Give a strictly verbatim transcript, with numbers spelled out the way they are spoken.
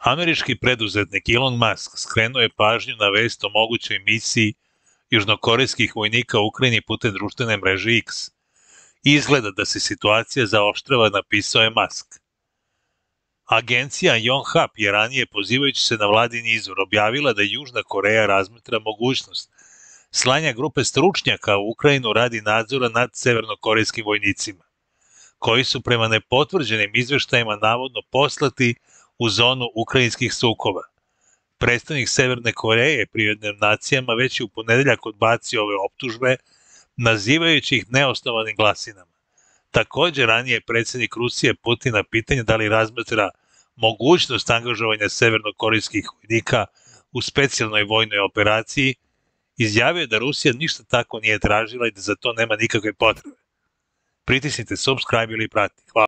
Američki preduzetnik Elon Musk skrenuo je pažnju na vest o mogućoj misiji južnokorejskih vojnika u Ukrajini putem društvene mreže X. Izgleda da se situacija zaoštrava, napisao je Musk. Agencija Yonhap je ranije, pozivajući se na vladin izvor, objavila da Južna Koreja razmatra mogućnost slanja grupe stručnjaka u Ukrajinu radi nadzora nad severnokorejskim vojnicima, koji su prema nepotvrđenim izveštajima navodno poslati u zonu ukrajinskih sukoba. Predstavnik Severne Koreje pri Ujedinjenim nacijama već je u ponedeljak odbacio ove optužbe, nazivajući ih neosnovanim glasinama. Također, ranije predsjednik Rusije Putin na pitanje da li razmatra mogućnost angažovanja severnokorejskih vojnika u specijalnoj vojnoj operaciji, izjavio da Rusija ništa tako nije tražila i da za to nema nikakve potrebe. Pritisnite subscribe ili prati. Hvala.